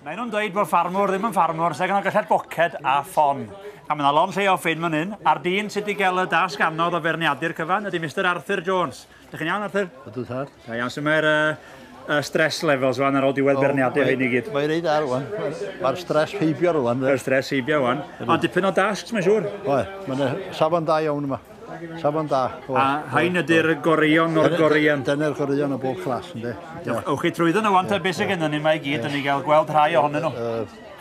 Maen nhw'n dweud bod ffarmwr ddim yn ffarmwr, sef gan gyllell boced a ffon. A mae yna lond lle o ffyn fan hyn, a'r dyn sydd wedi cael y dasg anodd o feirniadu'r cyfan ydy Mr Arthur Jones. Dych chi'n iawn, Arthur? Ydw, tad. Da iawn, so mae'r stress levels rwan ar ôl diwedd beirniadu hyn i gyd? Mae'n reit dda rwan. Mae'r stress heibio rwan. Mae'r stress heibio rwan. Ond dipyn o dasgs, mae'n siŵr. Oe, mae'n safon da iawn yma. Safon da. A hain ydy'r goreuon o'r goreuon. Dyna'r goreuon o bob clas, ynddi. Ewch chi trwyddo nhw wan, te, beth sydd gennym ni yma i gyd, yn ni gael gweld rhai ohonyn nhw.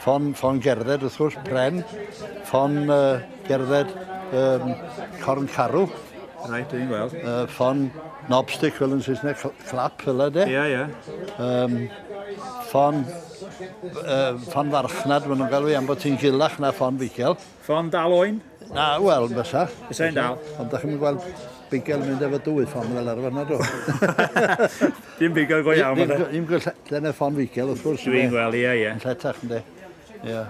Ffon gerdded, wrth gwrs, pren. Ffon gerdded corn carw. Reit, dwi'n gweld. Ffon knobstick fel yn Saesneg, clap fel yna, de. Ie, ie. Ffon farchnad, maen nhw'n galw i am bod ti'n gulach na ffon bigel. Ffon dal oen? Na, wel, fysa. Fysa hi'n dal. Ond da chi'n gweld bigel mynd efo dwy ffon fel arfer na, do. Dim bigel go iawn, yna. Dim dyna ffon figel, wrth gwrs. Dwi'n gweld, ie, ie. Yn lletach, ynddi.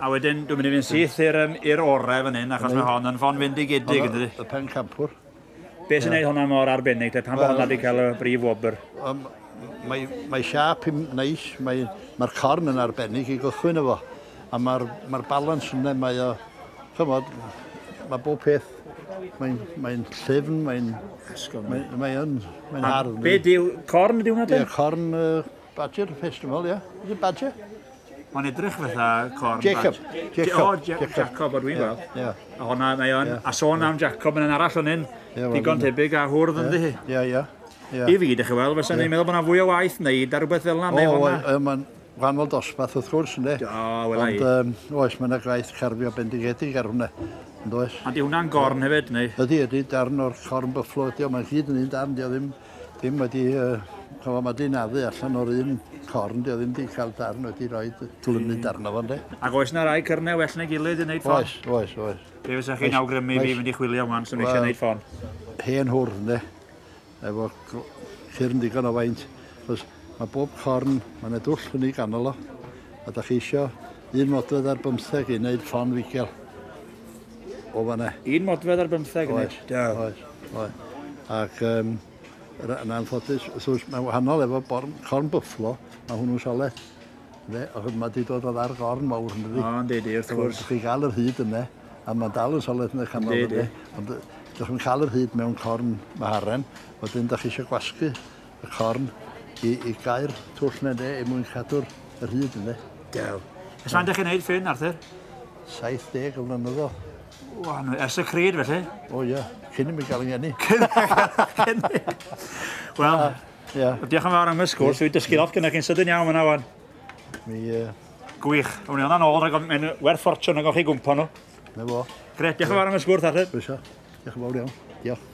A wedyn, dwi'n mynd i fynd syth i'r orau fan hyn, achos mae hon yn ffon fendigedig, ynddi? Y pencampwr. Be sy'n gwneud hwnna mor arbennig, te? Pam bod hwnna wedi cael y brif wobr? Mae siâp hi'n neis, mae'r corn yn arbennig i gychwyn efo. A mae'r balans yna, mae o, chymod, mae bob peth, mae'n llyfn, mae'n hardd. Be diw, corn ydi hwnna te? Ie, corn Badger Festival, ie. Is it Badger? Mae'n edrych fatha corn Jacob. Jacob. O, Jacob, o dwi'n gweld. A hwnna, mae o'n, a sôn am Jacob yn arall o'n hyn, digon tebyg a hwrdd ynddi hi. Ie, ie. I fi, dych chi weld, fysa ni'n meddwl bod yna fwy o waith wneud ar rhywbeth fel yna, neu hwnna. O, mae'n wahanol dosbarth wrth gwrs, ynddi. O, wela i. Ond, oes, mae yna gwaith carfio bendigedig ar hwnna, ond oes. A di hwnna'n gorn hefyd, neu? Ydy, ydy, darn o'r corn buffalo ydy o, mae'n gyd yn un darn, di o ddim wedi, chofio, mae di naddu allan o'r un corn, di o ddim di cael darn wedi rhoi glynu darn o fo, ynddi. Ac oes na rai cyrnau well na'i gilydd i wneud ffon? Oes, oes, oes. Be fysa chi'n awgrymu fi fynd i chwilio wan, swn i eisiau gwneud ffon? Hen hwrdd, ynddi, efo cyrn digon o faint. Achos mae bob corn, mae yna dwll yn ei ganol o, a da chi isio 1 modfedd ar 15 i wneud ffon figel o fanna. 1 modfedd ar 15 i wneud? Oes, oes, oes. Ac yn anffodus, wrth gwrs, mae'n wahanol efo corn buffalo, mae hwnnw'n soled. Achos mae wedi dod o ddar gorn mawr, yn dydi? O, yndi, wrth gwrs. Chi gael yr hyd yna, a mae'n dal yn soled yn y canol. Yndi, Ond dych chi'n cael yr hyd mewn corn maharen, wedyn dych chi eisiau gwasgu y corn i gau'r twll yna, de, er mwyn cadw'r yr hyd yna. Dew. Ers faint dych chi'n neud ffyn, Arthur? 70 o flynyddoedd. Wan, ers y cryd, felly? O ie, cyn i mi gael yng ngeni. Cyn. Wel, diolch yn fawr am y sgwrs. Dwi'n dysgu lot gyda chi'n sydyn iawn yna, wan. Gwych. Awn ni hwnna'n ôl, rhag ofn- mae'n werth ffortiwn ag o'ch chi gwmpo nhw. Na fo. Gret, diolch yn fawr am y sgwrs, Arthur. Croeso. Diolch yn fawr iawn. Diolch.